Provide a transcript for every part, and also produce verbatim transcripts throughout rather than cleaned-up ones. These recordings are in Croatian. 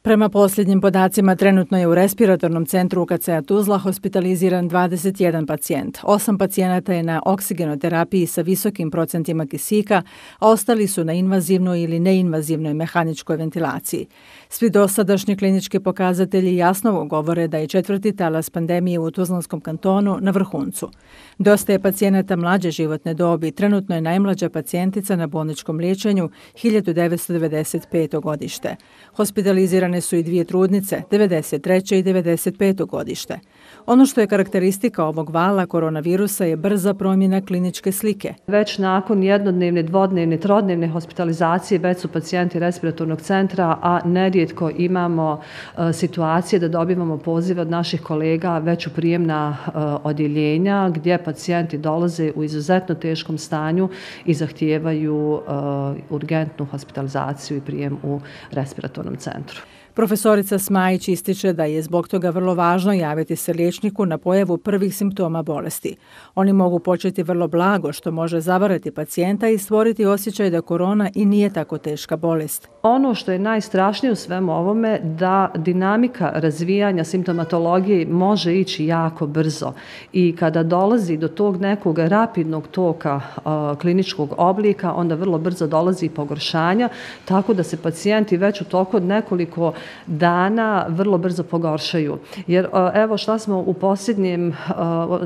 Prema posljednjim podacima, trenutno je u respiratornom centru U K C-a Tuzla hospitaliziran dvadeset jedan pacijent. Osam pacijenata je na oksigenoterapiji sa visokim procentima kisika, a ostali su na invazivnoj ili neinvazivnoj mehaničkoj ventilaciji. Svi dosadašnji klinički pokazatelji jasno govore da je četvrti talas pandemije u Tuzlanskom kantonu na vrhuncu. Dosta je pacijenata mlađe životne dobi, trenutno je najmlađa pacijentica na bolničkom liječenju hiljadu devetsto devedeset peto godište. Hospitalizirane su i dvije trudnice, devedeset treće i devedeset peto godište. Ono što je karakteristika ovog vala koronavirusa je brza promjena kliničke slike. Već nakon jednodnevne, dvodnevne, trodnevne hospitalizacije već su pacijenti respiratornog centra, a nerijetko imamo uh, situacije da dobivamo pozive od naših kolega već u prijemna uh, odjeljenja gdje pacijenti dolaze u izuzetno teškom stanju i zahtijevaju uh, urgentnu hospitalizaciju i prijem u respiratornom centru. Profesorica Smajić ističe da je zbog toga vrlo važno javiti se liječniku na pojavu prvih simptoma bolesti. Oni mogu početi vrlo blago, što može zavarati pacijenta i stvoriti osjećaj da korona i nije tako teška bolest. Ono što je najstrašnije u svemu ovome da dinamika razvijanja simptomatologije može ići jako brzo i kada dolazi do tog nekog rapidnog toka uh, kliničkog oblika, onda vrlo brzo dolazi i pogoršanja, tako da se pacijenti već u toku od nekoliko dana vrlo brzo pogoršaju. Jer evo šta smo u posljednjem,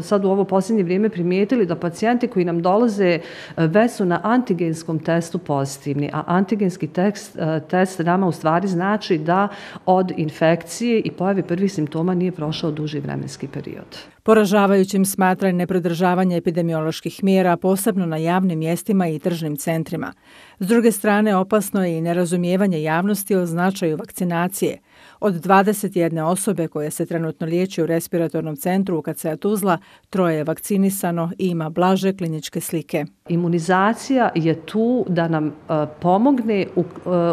sad u ovo posljednje vrijeme primijetili da pacijenti koji nam dolaze već su na antigenskom testu pozitivni, a antigenski test, test nama u stvari znači da od infekcije i pojave prvih simptoma nije prošao duži vremenski period. Poražavajućim smatra i nepridržavanje epidemioloških mjera, posebno na javnim mjestima i tržnim centrima. S druge strane, opasno je i nerazumijevanje javnosti o značaju vakcinacije. Od dvadeset jedne osobe koje se trenutno liječi u respiratornom centru U K C-a Tuzla, troje je vakcinisano i ima blaže kliničke slike. Imunizacija je tu da nam uh, pomogne u, uh,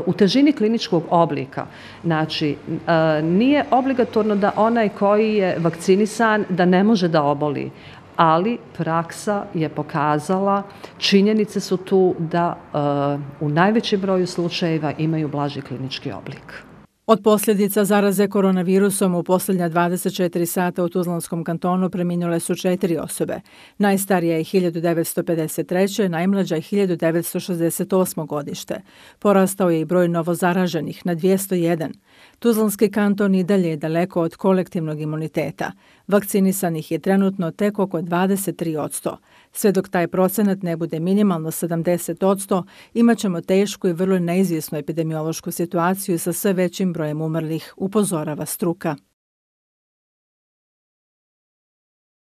u težini kliničkog oblika. Znači, uh, nije obligatorno da onaj koji je vakcinisan da ne može da oboli, ali praksa je pokazala, činjenice su tu da uh, u najvećem broju slučajeva imaju blaži klinički oblik. Od posljedica zaraze koronavirusom u posljednja dvadeset četiri sata u Tuzlanskom kantonu preminule su četiri osobe. Najstarija je hiljadu devetsto pedeset treće, najmlađa je hiljadu devetsto šezdeset osmo godište. Porastao je i broj novozaraženih na dvjesto jedan. Tuzlanski kanton i dalje je daleko od kolektivnog imuniteta. Vakcinisanih je trenutno tek oko dvadeset tri posto. Sve dok taj procenat ne bude minimalno sedamdeset posto, imat ćemo tešku i vrlo neizvjesnu epidemiološku situaciju sa sve većim brojem umrlih, upozorava struka.